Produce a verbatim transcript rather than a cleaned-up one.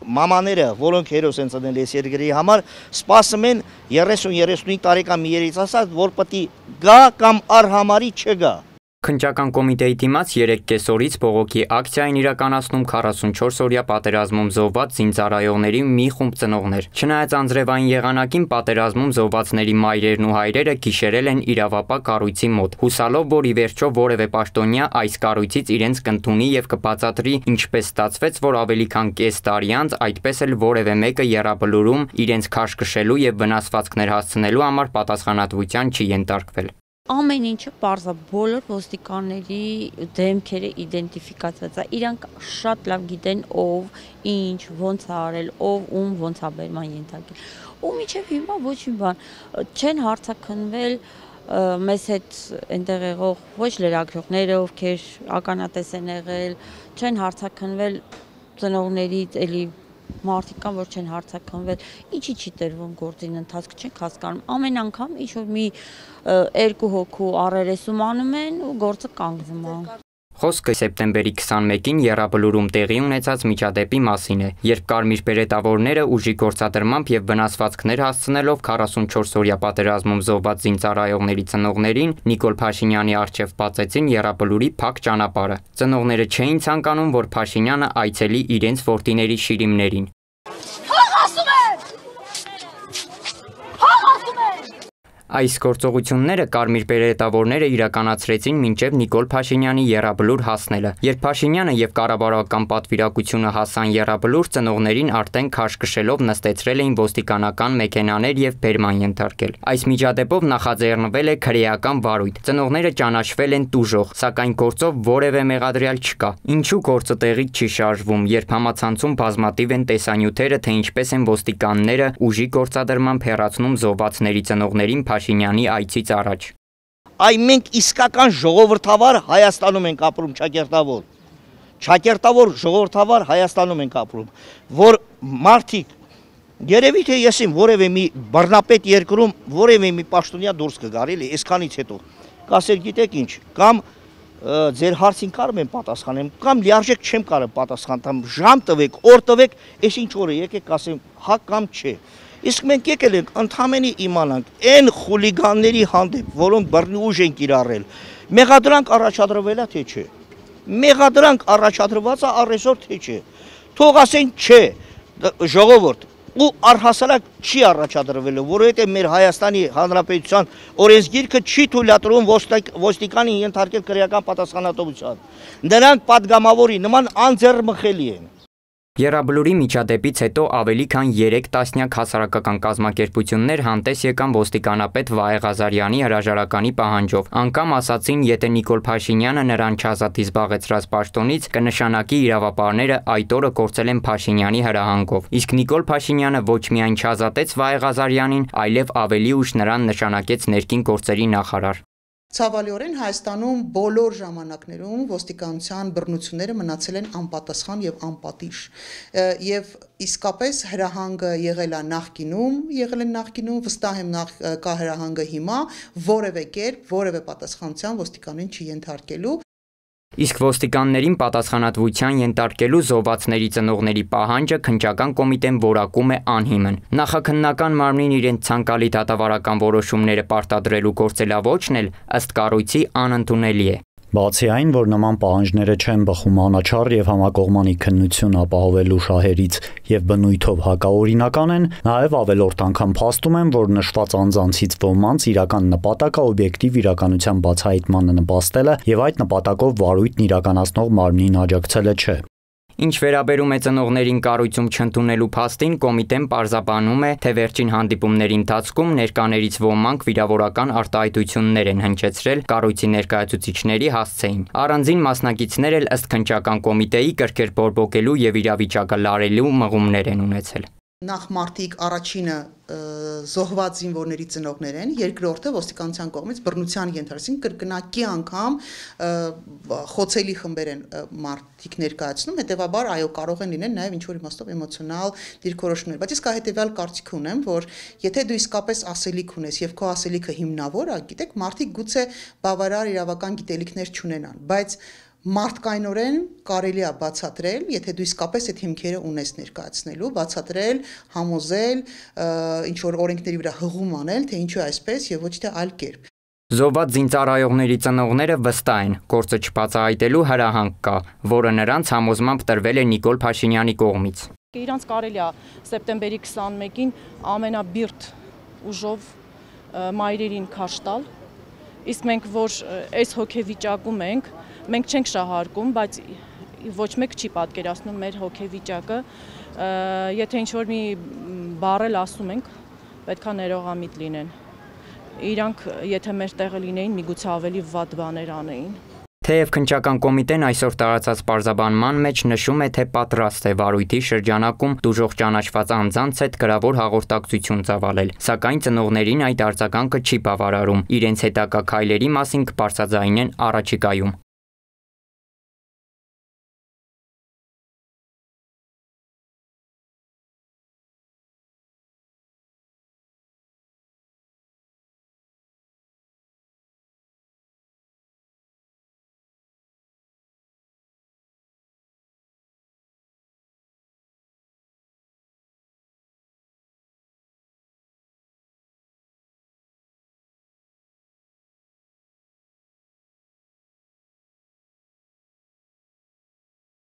Մամաները, որոնք հերոս են ծնել այս երկրի համար, սպասում են երեսուն երեսունհինգ տարեկան մի երիտասարդ, որ պետք է գա կամ առհամարի չգա։ Քննչական կոմիտեի դիմաց երեք կեսօրից բողոքի ակցիա են իրականացնում քառասունչորս օրյա պատերազմում զոհված զինծառայողների մի խումբ ծնողներ։ Չնայած անձրևային եղանակին պատերազմում զոհվածների մայրերն ու հայրերը գիշերել են իրավապահ կառույցի մոտ, հուսալով, որ ի վերջո որևէ պաշտոնյա այս կառույցից իրենց կընդունի եւ կբացատրի, ինչպես ստացվեց, որ ավելի քան կես տարի անց այդպես էլ որևէ մեկը եռաբլուրում իրենց քաշքշելու եւ վնասվածքներ հասցնելու համար պատասխանատվության չի ենթարկվել։ Ամեն ինչը պարզ է, բոլոր ոստիկանների դեմքերը իդենտիֆիկացված է, իրանք շատ լավ գիտեն ով, ինչ, ոնց է արել, ով ում ոնց է բերման ենթարկել։ Ու մինչև հիմա ոչ մի բան չեն հարցաքննվել մեզ հետ այնտեղ եղող ոչ լրագրողները, ովքեր ականատես են եղել, չեն հարցաքննվել ծնողներից, էլի մարդիկ կան, որ չեն հարցաքննվել, ինչի չի տրվում գործին ընթացք, չենք հասկանում։ Ամեն անգամ ինչ որ մի երկու հոգու առերեսում անում են ու գործը կանգնում է։ Խոսքը սեպտեմբերի քսանմեկին եռաբլուրում տեղի ունեցած միջադեպի մասին է, երբ կարմիր բերետավորները ուժի գործադրմամբ եւ վնասվածքներ հասցնելով քառասունչորս օրյա պատերազմում զոհված զինծառայողների ծնողներին Նիկոլ Փաշինյանի առջև բացեցին եռաբլուրի փակ ճանապարհը։ Ծնողները չէին ցանկանում, որ Փաշինյանը այցելի իրենց որդիների շիրիմներին։ Այս գործողությունները կարմիր բերետավորները իրականացրեցին մինչև Նիկոլ Փաշինյանի եռաբլուր հասնելը։ Երբ Փաշինյանը եւ կառավարական պատվիրակությունը հասան եռաբլուր, ծնողներին արդեն քաշքշելով նստեցրել էին ոստիկանական մեքենաներ եւ բերման ենթարկել։ Այս միջադեպով նախաձեռնվել է քրեական վարույթ։ Ծնողները ճանաչվել են տուժող, սակայն գործով որևէ մեղադրյալ չկա։ Ինչու գործը տեղից չի շարժվում, երբ համացանցում բազմատիվ են տեսանյութերը, թե ինչպես են ոստիկանները ուժի գործադրմամբ հեռացնում զոհվածների ծնողներին Փաշինյանի այցից առաջ։ Այ մենք իսկական ժողովրդավար Հայաստանում ենք ապրում, ճակերտավոր։ Ճակերտավոր ժողովրդավար Հայաստանում ենք ապրում, որ մարդիկ երևի թե ես իմ որևէ մի բռնապետ երկրում որևէ մի պաշտոնյա դուրս կգար, էլի, այսքանից հետո։ Կասեր գիտեք ինչ, կամ ձեր հարցին կարող եմ պատասխանեմ, կամ լիարժեք չեմ կարող պատասխանեմ, ժամ տվեք, օր տվեք, այս ինչ օրը եկեք ասեմ, հա կամ չէ։ Իսկ մենք եկել ենք ընդհանրապես իմանանք այն խուլիգանների հանդեպ, որոնք բռնի ուժ են կիրառել, մեղադրանք առաջադրվել է թե չէ։ Մեղադրանք առաջադրված է առեսօր թե չէ։ Թող ասեն չէ, ժողովուրդ, ու առհասարակ չի առաջադրվել, որովհետև մեր Հայաստանի Հանրապետության օրենսգիրքը չի թույլատրում ոստիկանին ենթարկել քրեական պատասխանատվության։ Նրանք պատգամավորի նման անձեռմխելի են։ Եռաբլուրի միջադեպից հետո ավելի քան երեք տասնյակ հասարակական կազմակերպություններ հանդես եկան ոստիկանապետ Վահե Ղազարյանի հրաժարականի պահանջով։ Անգամ ասացին, եթե Նիկոլ Փաշինյանը նրան չազատի զբաղեցրած պաշտոնից, կնշանակի իրավապահները այդ օրը կորցել են Փաշինյանի հրահանգով։ Իսկ Նիկոլ Փաշինյանը ոչ միայն չազատեց Վահե Ղազարյանին, այլև ավելի ուշ նրան նշանակեց ներքին գործերի նախարար։ Ցավալիորեն Հայաստանում բոլոր ժամանակներում ոստիկանության բռնությունները մնացել են անպատասխան եւ անպատիժ եւ իսկապես հրահանգը եղել է նախկինում, եղել են նախկինում, վստահ եմ նախ կա հրահանգը հիմա, որևէ կերպ, որևէ պատասխանատվության ոստիկանին չի ենթարկելու։ Իսկ ոստիկաններին պատասխանատվության ենթարկելու զոհվածների ծնողների պահանջը քննչական կոմիտեն որակում է անհիմն։ Նախաքննական մարմնին իրենց ցանկալի դատավարական որոշումները պարտադրելու գործելավոճն էլ ըստ կառույցի անընդունելի է։ Բացի այն, որ նման պահանջները չեն բխում անաչառ եւ համակողմանի քննություն ապահովելու շահերից եւ բնույթով հակաօրինական են, նաեւ ավելորդ անգամ փաստում են, որ նշված անձանցից ոմանց իրական նպատակը օբյեկտիվ իրականության բացահայտմանը նպաստելը եւ այդ նպատակով վարույթն իրականացնող մարմնին աջակցելը չէ։ Ինչ վերաբերում է ծնողներին կառույցում չընդունելու փաստին, կոմիտեն պարզաբանում է, թե վերջին հանդիպումների ընթացքում ներկաներից ոմանք վիրավորական արտահայտություններ են հնչեցրել կառույցի ներկայացուցիչների հասցեին։ Առանձին մասնակիցներ էլ ըստ քննչական կոմիտեի կրկեր բորբոքելու եւ իրավիճակը լարելու մղումներ են ունեցել։ Նախ մարտիկ առաջինը զոհված զինվորների ծնողներ են, երկրորդը ոստիկանության կողմից բռնության ենթարկեցին կրկնակի անգամ խոցելի խմբեր են մարտիկ ներկայացնում, հետևաբար այո կարող են լինել նաև ինչ-որ իմաստով էմոցիոնալ դիրքորոշումներ, բայց իսկ հետևյալ կարծիք ունեմ, որ եթե դու իսկապես ասելիք ունես եւ քո ասելիքը հիմնավոր է, գիտեք, մարտիկ գուցե բավարար իրավական գիտելիքներ չունենան, բայց մարդկայնորեն կարելի է բացատրել, եթե դու իսկապես այդ հիմքերը ունես ներկայացնելու, բացատրել, համոզել, ինչ որ օրենքների վրա հղում անել, թե ինչու այսպես եւ ոչ թե այլ կերպ։ Զոհված զինծառայողների ծնողները վստահ են, գործը չբացահայտելու հրահանգ կա, որը նրանց համոզմամբ տրվել է Նիկոլ Փաշինյանի կողմից։ Իրանց կարելի է սեպտեմբերի քսանմեկին ամենաբիրտ ուժով մայրերին քարշ տալ, իսկ մենք որ այս հոգեվիճակում ենք, մենք չենք շահարկում, բայց ոչ մեկ չի պատկերացնում մեր հոգեվիճակը, եթե ինչ-որ մի բառել ասում ենք, պետք է ներողամիտ լինեն, իրանք եթե մեր տեղը լինեին, միգուցե ավելի վատ բաներ անեին։ Թեև քննչական կոմիտեն այսօր տարածած պարզաբանման մեջ նշում է, թե պատրաստ է վարույթի շրջանակում տուժող ճանաչված անձանց հետ գրավոր հաղորդակցություն ծավալել, սակայն ծնողներին այդ արձագանքը չի բավարարում, իրենց հետագա քայլերի մասին կբարձրաձայնեն առաջիկայում։